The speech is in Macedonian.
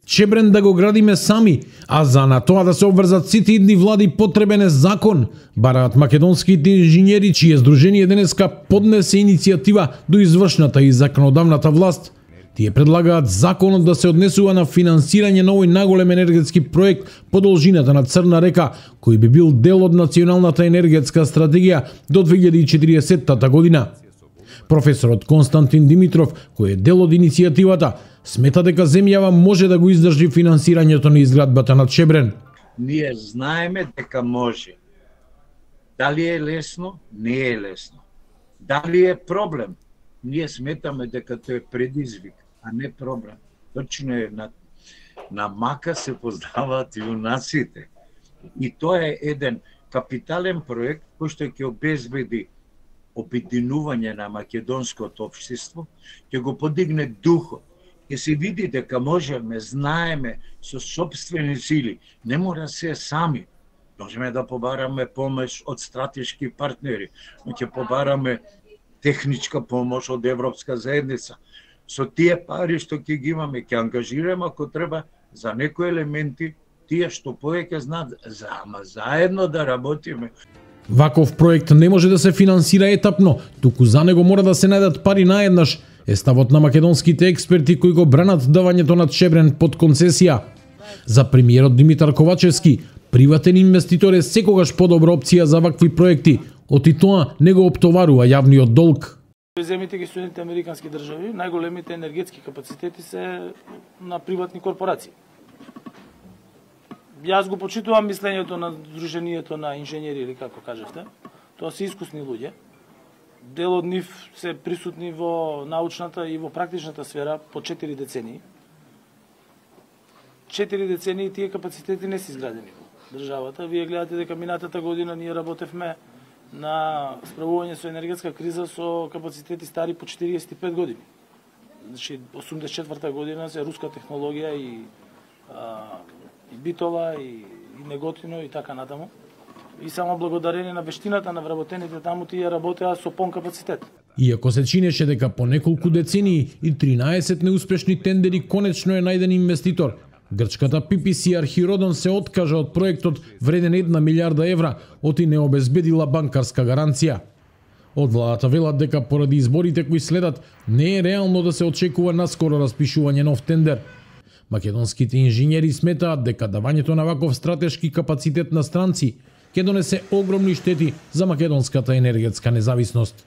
Чебрен да го градиме сами, а за на тоа да се обврзат сите идни влади потребен е закон, бараат македонските инженери, чие здружение денеска поднесе иницијатива до извршната и законодавната власт. Тие предлагаат законот да се однесува на финансирање на овој наголем енергетски проект по должината на Црна река, кој би бил дел од националната енергетска стратегија до 2040 година. Професорот Константин Димитров, кој е дел од иницијативата, смета дека земјава може да го издржи финансирањето на изградбата на Чебрен. Ние знаеме дека може. Дали е лесно? Не е лесно. Дали е проблем? Ние сметаме дека тој е предизвик, а не проблем. Точно е на мака се познаваат јунаците. И тоа е еден капитален проект кој што ќе обезбеди обединување на македонското општество, ќе го подигне духот. Ќе се види дека можеме, знаеме со сопствени сили, не мора се сами. Можеме да побараме помош од стратешки партнери, но ќе побараме техничка помош од Европска заедница. Со тие пари што ќе ги имаме, ќе ангажираме ако треба за некои елементи, тие што повеќе знаат, ама заедно да работиме. Ваков проект не може да се финансира етапно, туку за него мора да се најдат пари наеднаш, е ставот на македонските експерти кои го бранат давањето на Чебрен под концесија. За премиерот Димитар Ковачевски, приватен инвеститор е секогаш подобра опција за вакви проекти, оти тоа не го оптоварува јавниот долг. Земите ги Соединените американски држави, најголемите енергетски капацитети се на приватни корпорации. Јас го почитувам мислењето на Сдруженијето на инженери, или како кажевте. Тоа се искусни луѓе. Дел од нив се присутни во научната и во практичната сфера по 4 децении. 4 децении тие капацитети не се изградени во државата. Вие гледате дека минатата година ние работевме на справување со енергетска криза со капацитети стари по 45 години. Значи 84 година се руска технологија и битова и неготино и така натаму. И само благодарение на вештината на вработените таму тие работеа со полн капацитет. Иако се чинеше дека по неколку децении и 13 неуспешни тендери конечно е најден инвеститор, грчката PPC Архиродон се откажа од проектот вреден 1 милиарда евра, оти не обезбедила банкарска гаранција. Од владата велат дека поради изборите кои следат не е реално да се очекува наскоро распишување нов тендер. Македонските инженери сметаат дека давањето на ваков стратешки капацитет на странци ќе донесе огромни штети за македонската енергетска независност.